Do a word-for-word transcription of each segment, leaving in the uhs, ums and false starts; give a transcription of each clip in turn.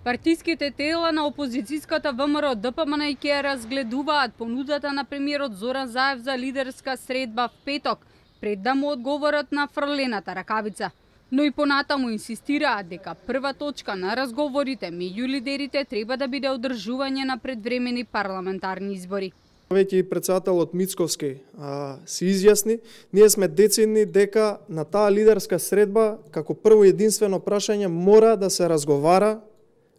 Партиските тела на опозицијската ВМРО Д П М Н и ќе разгледуваат понудата на премиерот Зоран Заев за лидерска средба в петок, пред да му одговорат на фрлената ракавица. Но и понатаму инсистираат дека прва точка на разговорите меѓу лидерите треба да биде одржување на предвремени парламентарни избори. Веќе и претседателот Мицковски а, се изјасни, ние сме децидни дека на таа лидерска средба како прво единствено прашање мора да се разговара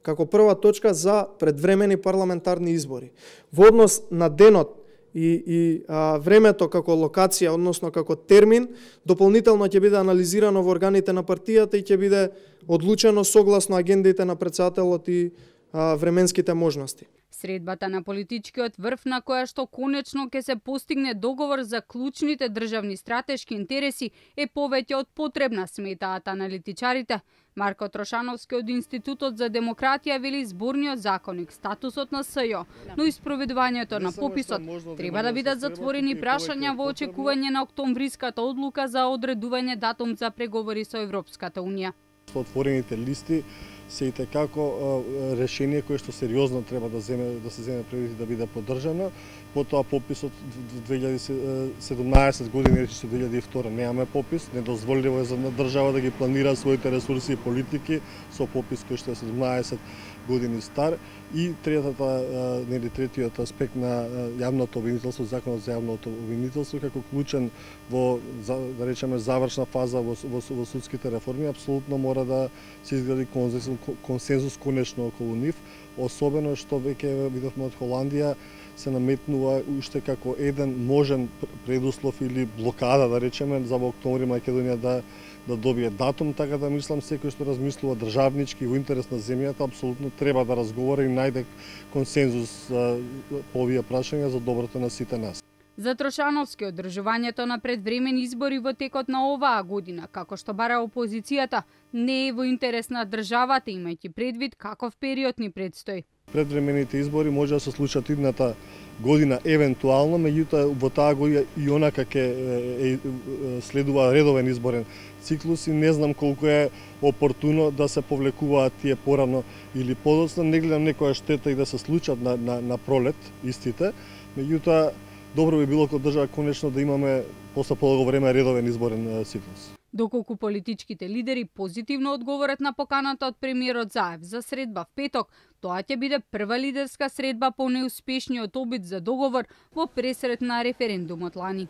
како прва точка за предвремени парламентарни избори. Во однос на денот и, и а, времето како локација, односно како термин, дополнително ќе биде анализирано во органите на партијата и ќе биде одлучено согласно агендите на претседателот и а, временските можности. Средбата на политичкиот врв на која што конечно ќе се постигне договор за клучните државни стратешки интереси е повеќе од потребна, сметаат аналитичарите. Марко Трошановски од Институтот за демократија вели зборниот законник статусот на С Ј О, но и спроведувањето на пописот треба да бидат затворени прашања во очекување на октомвриската одлука за одредување датум за преговори со Европската унија. Отворените листи се и како решение кое што сериозно треба да земе да се земе предвид да биде поддржано. Потоа пописот две илјади и седумнаесет години речи со две илјади и втора немаме попис, недозволиво е за држава да ги планира своите ресурси и политики со попис кој што е седумнаесет години стар. И третата нели третиот аспект на јавното обвинителство, законот за јавното обвинителство како клучен во да речеме завршна фаза во, во, во судските реформи, апсолутно мора да се изгради консензус, консензус конечно околу нив, особено што веќе видовме од Холандија се наметнува уште како еден можен предуслов или блокада, да речеме, за во октомври Македонија да да добие датум, така да мислам секој што размислува државнички во интерес на земјата апсолутно треба да разговара и најде консензус по овие прашања за доброто на сите нас. За Трошановски, одржувањето на предвремени избори во текот на оваа година, како што бара опозицијата, не е во интерес на државата, имајќи предвид каков период ни предстои. Предвремените избори може да се случат идната година евентуално, меѓутоа во таа година и онака ќе следува редовен изборен циклус и не знам колку е опортуно да се повлекуваат тие порано или подоцна. Не гледам некоја штета и да се случат на, на, на пролет истите, меѓутоа добро би било како држава конечно да имаме после подолго време редовен изборен циклус. Доколку политичките лидери позитивно одговорат на поканата од премиерот Заев за средба в петок, тоа ќе биде прва лидерска средба по неуспешниот обид за договор во пресрет на референдумот лани.